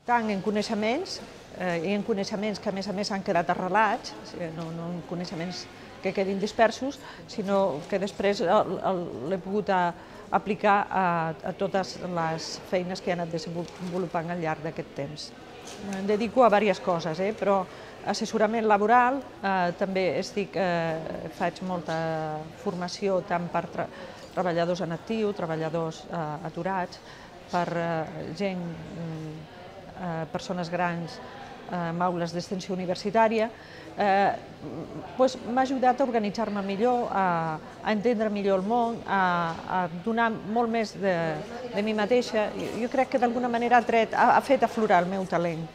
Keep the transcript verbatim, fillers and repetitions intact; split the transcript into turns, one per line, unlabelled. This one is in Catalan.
tant en coneixements, eh, i en coneixements que a més a més han quedat arrelats, no, no en coneixements que quedin dispersos, sinó que després l'he pogut a, aplicar a, a totes les feines que he anat desenvolupant al llarg d'aquest temps. Em dedico a diverses coses, eh, però assessorament laboral, eh, també estic, eh, faig molta formació tant per tra treballadors en actiu, treballadors eh, aturats, per eh, gent, eh, persones grans, amb aules d'extensió universitària, eh, doncs m'ha ajudat a organitzar-me millor, a, a entendre millor el món, a, a donar molt més de, de mi mateixa. Jo crec que d'alguna manera ha, tret, ha, ha fet aflorar el meu talent.